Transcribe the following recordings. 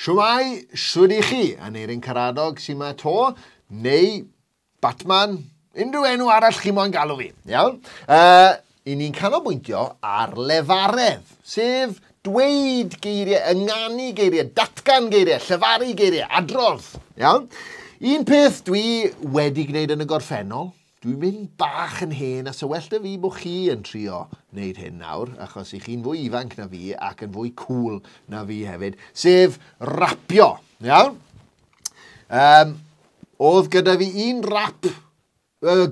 Shwmae, shwd i chi? Aneirin Karadog sy'n ma to, neu Batman, unrhyw enw arall chi moyn galw fi, iawn? I ni'n canolbwyntio ar lefaredd, sef dweud geiriau, ynganu geiriau, datgan geiriau, llefaru geiriau, adrodd, iawn? Un peth dwi wedi gwneud yn y gorffennol, dwi'n mynd bach yn hen a so well da fi bod chi yn trio wneud hyn nawr, achos i chi'n fwy ifanc na fi ac yn fwy cool na fi hefyd, sef rapio, iawn? Oedd gyda fi un rap,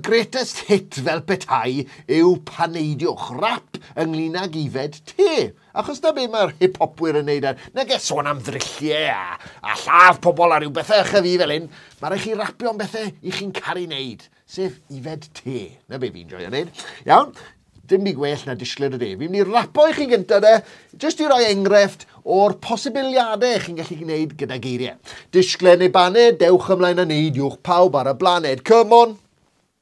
greatest hit fel petai, yw Paneidiwch, rap ynglyn ag ifed te. Achos na be mae'r hip-hopwyr yn neud ar, nag e sôn am ddrylliau a lladd pobl a rhyw bethau ychydig fi fel hyn, mae rhaid chi rapio am bethau i chi'n caru wneud, sef ifed te. Na be fi'n joio wneud. Iawn, dim byd gwell na disgled o de. Fi'n mynd i rapo i chi gyntaf de, jyst i roi enghraifft o'r posibiliadau chi'n gallu gwneud gyda geiriau. Disgled neu baned, dewch ymlaen a neidiwch pawb ar y blaned. Come on!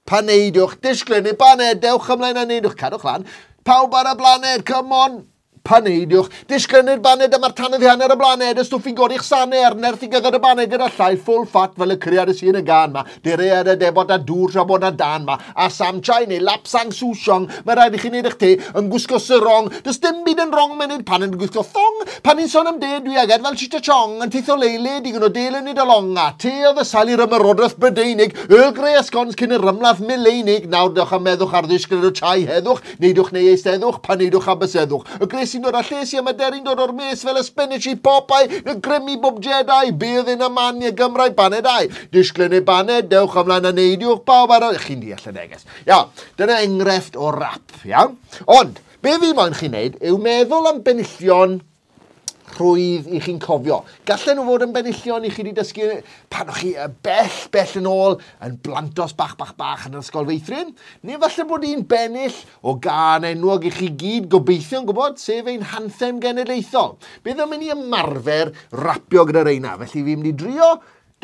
Paneidiwch, disgled neu baned, dewch ymlaen a neidiwch, cadwch lan. Pawb ar y blaned, come on! Paneidiwch, disgled neu'r baned, dyma'r tanedd i hanner y blaned, y stwff i godi'ch sanau a'r nerth i gyfer y baned gyda llai full fat fel y criad y sy'n y gan ma, dere ar y debot a dŵr tra bod na dan ma, a Sam Chai neu Lapsang Souchong, mae rhaid i chi wneud eich te yn gwisgo sarong, does dim byd yn wrong mewn pan yn gwisgo thong, pan ni'n sôn am de dwi agad fel Cheech a Chong, yn teithio leile, digon o del yn nid along, a te oedd y sail i'r ymerodraeth Brydeinig, Earl Grey a scones cyn yr ymladd mileinig, nawr dewch am meddwch ar ddisgled o chai heddwch, neidiwch neu eisteddwch, paneidwch a byseddwch. Y gres sy'n dod â lles i am y deryn dod o'r mes fel y spinach i Popeye, y grymu bob Jedi, bydd yn y man i Gymraeg banedau. Disgled neu baned, dewch ymlaen a neidiwch pawb ar y... Chi'n deall y neges. Iawn, dyna enghraifft o rap, iawn? Ond, be fi moyn chi wneud yw meddwl am benillion rhwydd i chi'n cofio. Gallen nhw fod yn benillion i chi wedi dysgu pan o'ch chi bell, bell yn ôl yn blantos bach, bach, bach yn yr ysgol feithrin. Neu falle bod un bennill o gân enwog i chi gyd gobeithio'n gwybod, sef ein hanthem genedlaethol. Bydd yn mynd i ymarfer rapio gyda reina. Felly fi'n mynd i drio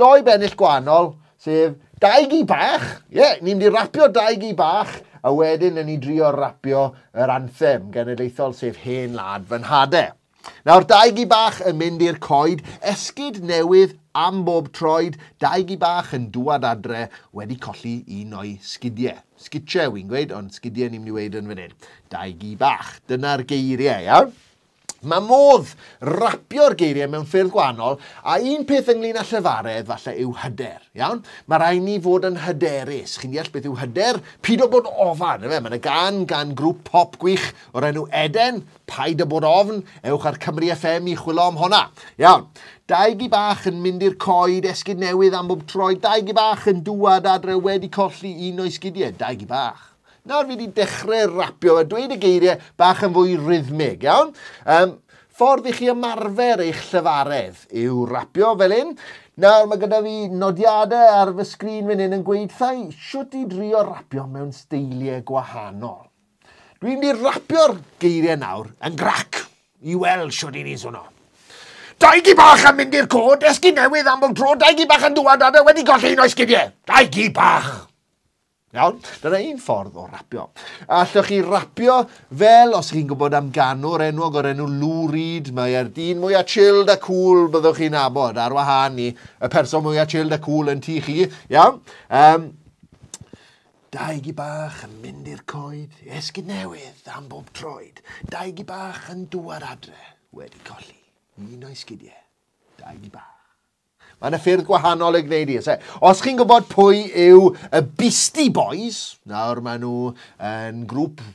doi bennill gwahanol, sef dau gi bach. Ie, yeah, ni'n mynd i rapio dau gi bach, a wedyn yn ni drio rapio yr anthem genedlaethol, sef Hen Wlad Fy Nhadau. Nawr, dau gi bach yn mynd i'r coed, esgid newydd am bob troed, dau gi bach yn dŵad adre wedi colli un o'i sgidiau. Sgitiau wy'n gweud, ond sgidiau ni'n mynd i weud yn fan hyn. Dau gi bach, dyna'r geiriau, iawn? Mae modd rapio'r geiriau mewn ffyrdd gwahanol, a un peth ynglyn â llefaredd falle yw hyder, iawn? Mae rhaid ni fod yn hyderus. Chi'n deall beth yw hyder? Pido bod ofan, ife? Mae yna gân gan grŵp pop gwych o'r enw Eden, Paid â bod ofn, ewch ar Cymru FM i chwilio am honna. Iawn, dau gi bach yn mynd i'r coed, esgid newydd am bob troed, dau gi bach yn dŵad adre wedi colli un o'i sgidiau, dau gi bach. Nawr fi wedi dechrau rapio a dweud y geiriau bach yn fwy rhythmig, iawn? Ffordd i chi ymarfer eich llefaredd yw rapio fel hyn. Nawr mae gyda fi nodiadau ar fy sgrin fan hyn yn gweud thai shwt i drio rapio mewn steiliau gwahanol. Dwi'n mynd i rapio'r geiriau nawr yn grac i weld shwt i ni'n swnio. Dau gi bach yn mynd i'r cod, esgid newydd am bob tro, dau gi bach yn dŵad adre wedi golli un o'i sgidiau. Dau gi bach. Iawn, dyna un ffordd o rapio. Allwch chi rapio fel, os chi'n gwybod am ganwr enwog o'r enw Lou Reed, mae e'r dyn mwyaf chilled a cool byddwch chi'n nabod, ar wahân i y person mwyaf chilled a cool yn tŷ chi, iawn. Dau gi bach yn mynd i'r coed, esgid newydd am bob troed. Dau gi bach yn dŵad adre, wedi colli un o'i sgidiau. Dau gi bach. Mae yna ffyrdd gwahanol i gwneud i. Os chi'n gwybod pwy yw y Beastie Boys, nawr maen nhw yn grŵp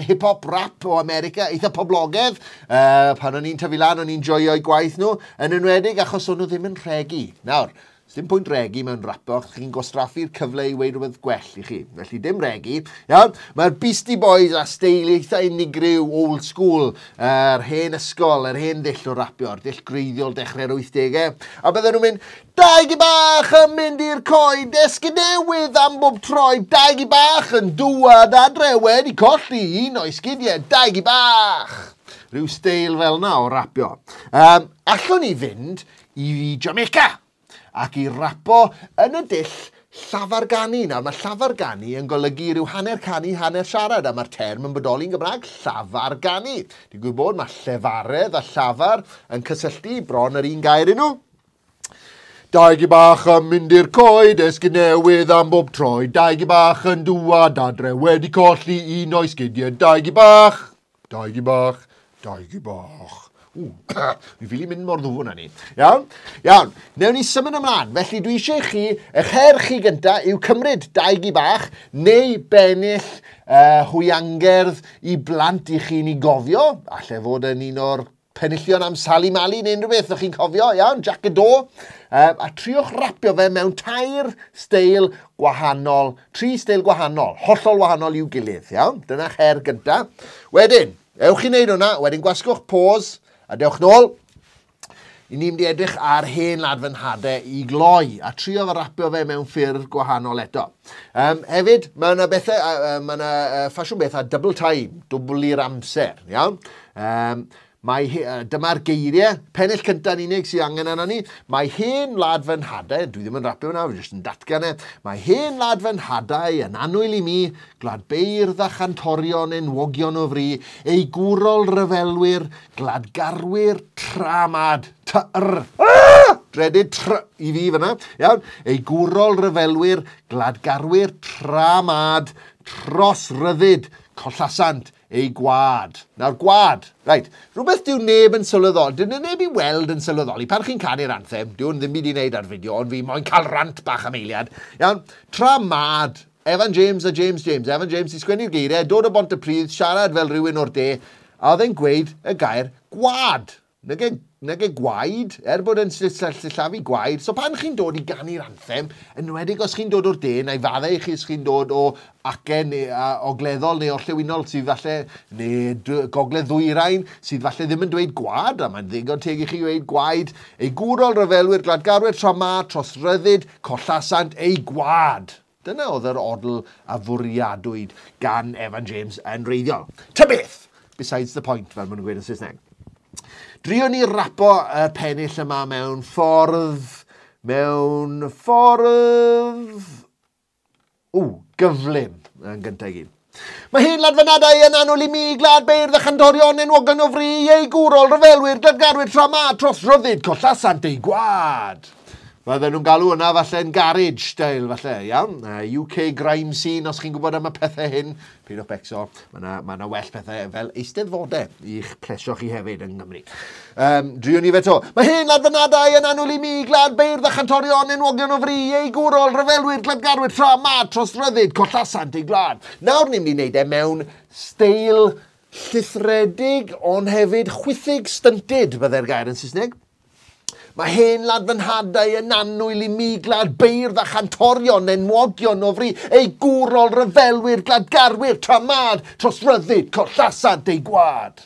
hip-hop rap o America, eitha poblogaidd. Pan o'n i'n tyfu lan, o'n i'n joio'u gwaith nhw, yn enwedig achos o'n nhw ddim yn rhegi. Nawr, dim pwynt regi mewn rapo, chi'n gwastraffu'r cyfle i weud rhywbeth gwell i chi. Felly dim regi. Iawn, mae'r Beastie Boys a steil eitha unigryw, old school, yr hen ysgol, yr hen ddull o rapio, yr dull gwreiddiol dechrau'r 80au. A bydden nhw'n mynd, dau gi bach yn mynd i'r coed, esgid newydd am bob troed, dau gi bach yn dŵad adre wedi colli un o'i sgidiau, dau gi bach. Rhyw steil fel yna o rapio. Allwn ni fynd i Jamaica ac i rapo yn y dull llafarganu. Nawr, mae llafarganu yn golygu rhyw hanner canu, hanner siarad, a mae'r term yn bodoli'n Gymraeg, llafarganu. Digwydd bod, mae llefaredd a llafar yn cysylltu bron yr un gair i nhw. Dau gi bach yn mynd i'r coed, esgid newydd am bob troed. Dau gi bach yn dŵad adre, wedi colli un o'i sgidiau. Dau gi bach, dau gi bach, dau gi bach. Ww, fi ffili mynd mor ddwfn â ni. Iawn? Iawn. Newn ni symud ymlaen. Felly dwi eisiau chi, eich her chi gynta yw cymryd dau gi bach neu bennill hwyangerdd i blant i chi'n ei gofio. Alle fod yn un o'r penillion am Sali Mali neu unrhyw beth, ydych chi'n cofio, iawn, Jac y Do. A triwch rapio fe mewn tair steil gwahanol, tri steil gwahanol, hollol wahanol i'w gilydd, iawn. Dyna'ch her gynta. Wedyn, ewch i wneud hwnna, wedyn gwasgwch pause, a dewch nôl. I ni'n mynd i edrych ar hen wlad fy nhadau i gloi, a trio fe rapio fe mewn ffyrdd gwahanol eto. Hefyd, mae yna bethau, mae yna ffasiwn beth a double time, dwbl i'r amser, iawn? Dyma'r geiriau, pennill cyntaf yn unig sydd angen arno ni. Mae hen wlad fy nhadau, dwi ddim yn rapio hwnna, fi jyst yn datgan e. Mae hen wlad fy nhadau yn annwyl i mi, gwlad beirdd a chantorion enwogion o fri, ei gwrol ryfelwyr, gladgarwyr tramad, ty-r, dredyd tr i fi fyna, iawn, ei gwrol ryfelwyr, gladgarwyr tramad, tros ryddid, collasant ei gwad. Nawr, gwad, reit, rhywbeth dyw neb yn sylweddoli, dyw neb i weld yn sylweddoli, pan chi'n canu'r anthem, dyw hwn ddim byd i wneud ar fideo, ond fi moyn cael rant bach am eiliad, iawn, tramad, Evan James a James James, Evan James i sgwennu'r geiriau, dod o Bontypridd, siarad fel rhywun o'r de, a oedd e'n gweud y gair gwad. Nage gwaed, er bod yn sillafu gwaed. So pan chi'n dod i ganu'r anthem, enwedig os chi'n dod o'r de, na i faddau i chi os chi'n dod o acen neu ogleddol neu orllewinol sydd falle, neu gogledd ddwyrain, sydd falle ddim yn dweud gwad, a mae'n ddigon teg i chi dweud gwaed. Ei gwrol ryfelwyr gladgarwyr tra ma, tros ryddid, collasant ei gwad. Dyna oedd yr odl a fwriadwyd gan Evan James yn wreiddiol. Ta beth! Besides the point, fel maen nhw'n gweud yn Saesneg. Drio ni rapo y pennill yma mewn ffordd, gyflym yn gyntaf i gyd. Mae hen wlad fy nhadau yn annwyl i mi, gwlad beirdd a chantorion enwogion o fri, ei gwrol ryfelwyr, gladgarwyr tra ma, tros ryddid, collasant ei gwad. Fydden nhw'n galw hwnna falle'n garage style, falle, iawn? UK grime scene, os chi'n gwybod am y pethau hyn, peidiwch becso, mae yna well pethau fel eisteddfodau i'ch plesio chi hefyd yng Nghymru. Drio ni fe to. Mae hen wlad fy nhadau yn annwyl i mi, gwlad beirdd a chantorion enwogion o fri, ei gwrol ryfelwyr, gladgarwyr tra ma, tros ryddid, collasant ei gwlad. Nawr ni'n mynd i wneud e mewn steil llithredig, ond hefyd chwithig stunted, byddai'r gair yn Saesneg. Mae hen wlad fy nhadau yn annwyl i mi, gwlad beirdd a chantorion enwogion o fri, ei gwrol ryfelwyr, gladgarwyr, tramad, tros ryddid, collasant ei gwad.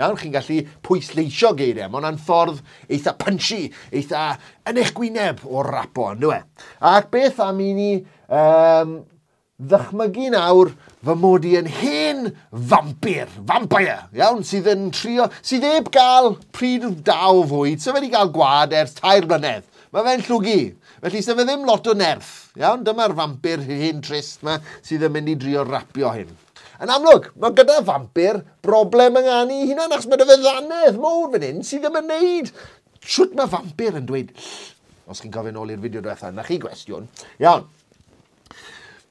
Iawn, chi'n gallu pwysleisio geiriau. Mae hwnna'n ffordd eitha punchy, eitha yn eich gwyneb o rapo, on'd yw e? Ac beth am i ni ddychmygu nawr fy mod i yn hen vampir, vampire, iawn, sydd yn trio, sydd heb gael pryd da o fwyd, so fe wedi cael gwad ers 3 blynedd. Mae fe'n llwgu, felly so fe ddim lot o nerth, iawn, dyma'r vampir hen trist ma sydd yn mynd i drio rapio hyn. Yn amlwg, mae gyda vampir broblem yng nganu hunan, achos mae 'da fe ddannedd mowr fan hyn sydd ddim yn neud. Shwt mae vampir yn dweud, os chi'n cofio nôl i'r fideo diwetha, na chi gwestiwn, iawn.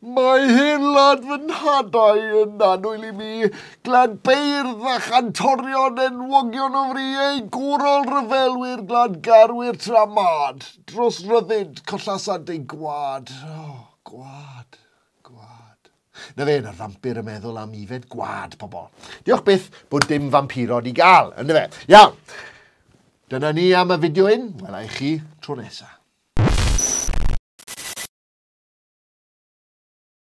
Mae hen wlad fy nhadau yn annwyl i mi, gwlad beirdd a chantorion enwogion o fri, ei gwrol ryfelwyr, gladgarwyr tramad, dros ryddid, collasant ei gwad. Oh, gwad, gwad. Na fe, na'r vampir yn meddwl am ifed gwad, pobl. Diolch byth bod dim vampirod i gael, yndyfe? Iawn, dyna ni am y fideo hyn. Wela i chi tro nesaf.